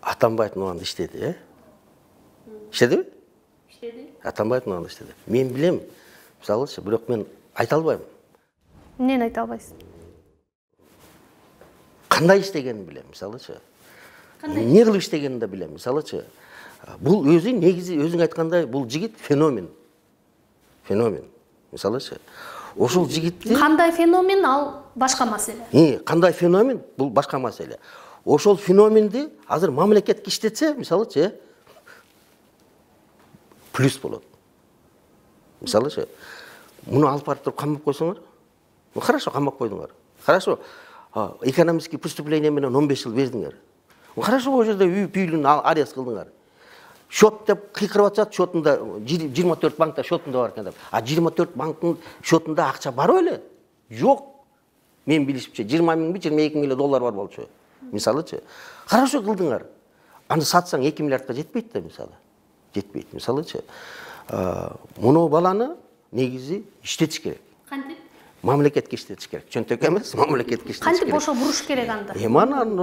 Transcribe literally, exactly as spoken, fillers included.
Атамбаев мындай иштеди, э? Иштедиби? Иштеди. Атамбаев мындай иштеди. Мен билем, мисалычы, бирок мен айта албайм. Эмнени айта албайсыз? Кандай иштегенин билем, мисалычы. Эмне кылып иштегенин да билем, мисалычы. Бул өзү негизи өзүң айткандай, бул жигит феномен. Феномен. Мисалычы, ошол жигитти Кандай феномен, ал башка маселе. Э, кандай феномен, бул башка маселе. Ошол феноменди азыр мамлекет иштетсе, мисалычы, плюс болот. Мисалычы, муну алып барып туруп камап койсоңор, ну хорошо, камап койдуңар. Хорошо, экономический преступление менен он беш жыл бердиңер. Ну хорошо, о жерде үй бүйлүн арест кылдыңар. Счет деп кыйкырып атышат, счетунда жыйырма төрт банкта счетунда бар экен деп. А жыйырма төрт банктын счетунда акча бар беле? Жок. Мен билишимче жыйырма миңби, жыйырма эки миң доллар бар болчу. Мисалычы, хорошо кылдыңар. Аны сатсаң эки миллиардка жетпейт да, мисалы. Жетпейт, мисалычы. Муну баланы негизи иштетиш керек. Кантип? Мамлекетке иштетиш керек. Чөнтөк эмес, мамлекетке иштетиш керек. Кантип ошо буруш керек анда? Эми анан